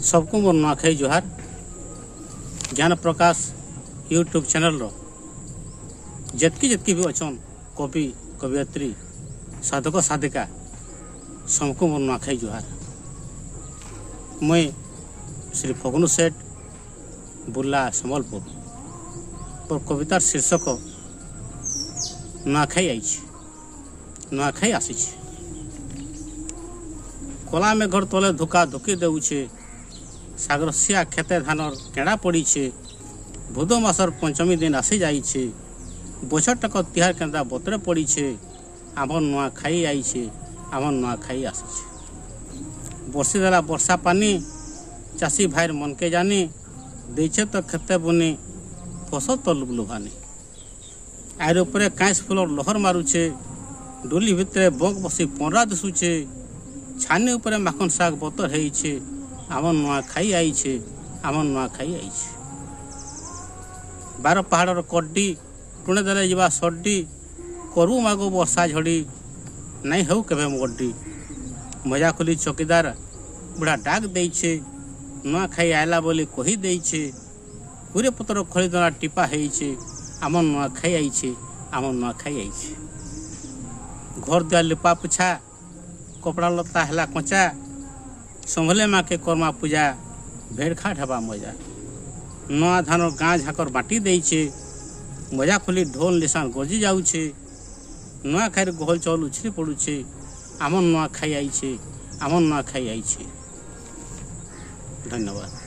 सबକୁ ମୋର ନୂଆଖାଇ ଜୁହାର। ଜ୍ଞାନ ପ୍ରକାଶ ୟୁଟ୍ୟୁବ୍ ଚ୍ୟାନେଲ୍ର ଯେତ୍କି ଯେତ୍କି ବି ଅଛନ୍ କବି କବିୟତ୍ରୀ ସାଧକ ସାଧିକା, ସମସ୍ତଙ୍କୁ ମୋର ନୂଆଖାଇ ଜୁହାର। ମୁଇଁ ଶ୍ରୀ ଫଗୁନୁ ସେଠ, ବୁର୍ଲା, ସମ୍ବଲପୁର। ମୋର କବିତାର ଶୀର୍ଷକ ନୂଆଖାଇ ଆଇଛି। ନୂଆଖାଇ ଆସିଛି। କଲା ମେଘର ତଲେ ଧୁକା ଧୁକି ଦେଉଛେ, ସାଗରସିଆ ଖେତେ ଧାନର କେଣା ପଡ଼ିଛେ। ଭୁଦ ମାସର ପଞ୍ଚମୀ ଦିନ ଆସି ଯାଇଛେ, ବଛରଟାକ ତିହାର କେନ୍ତା ବତରେ ପଡ଼ିଛେ। ଆମର ନୂଆଖାଇ ଆଇଛେ, ଆମର ନୂଆଖାଇ ଆସିଛେ। ବର୍ଷି ଦେଲା ବର୍ଷା ପାନି, ଚାଷୀ ଭାଇର ମନକେ ଜାନି, ଦେଇଛେ ତ ଖେତେ ବୁନି, ଫସଲ ତ ଲୁଭଲୁଭାନି। ଆଇର ଉପରେ କାଇଁସ ଫୁଲର ଲହର ମାରୁଛେ, ଡୁଲି ଭିତରେ ବଙ୍କ ବସି ପନରା ଦିଶୁଛେ, ଛାନି ଉପରେ ମାଖନ ଶାଗ ବତର ହେଇଛେ। ଆମ ନୂଆଖାଇ ଆଇଛେ, ଆମ ନୂଆଖାଇ ଆଇଛେ। ବାର ପାହାଡ଼ର କଡ୍ଡି ଟୁଣେ ଦେଲେ ଯିବା ସଡ୍ଡି, କରୁ ମାଗୁ ବର୍ଷା ଝଡ଼ି ନାଇଁ ହେଉ କେବେ ମଗଡ୍ଡି। ମଜା ଖୋଲି ଚକିଦାର ବୁଢ଼ା ଡାକ ଦେଇଛେ, ନୂଆଖାଇ ଆଇଲା ବୋଲି କହି ଦେଇଛେ। କୁରେ ପତ୍ର ଖଳିଦଣା ଟିପା ହେଇଛେ, ଆମ ନୂଆଖାଇ ଆଇଛେ, ଆମ ନୂଆଖାଇ ଆଇଛେ। ଘର ଦୁଆର ଲିପା ପୁଛା, କପଡ଼ା ଲତା ହେଲା କଞ୍ଚା, ସମ୍ଭଲେ ମାକେ କର୍ମା ପୂଜା, ଭେଟ ଘାଟ ହେବା ମଜା। ନୂଆ ଧାନ ଗାଁ ଝାକର ବାଣ୍ଟି ଦେଇଛେ, ମଜା ଖୋଲି ଢୋଲ ନିଶାନ ଗଜି ଯାଉଛେ, ନୂଆଖାଇରେ ଗହଲ ଚହଲ ଉଛୁଳି ପଡ଼ୁଛେ। ଆମ ନୂଆଖାଇ ଆଇଛେ, ଆମ ନୂଆଖାଇ ଆଇଛେ। ଧନ୍ୟବାଦ।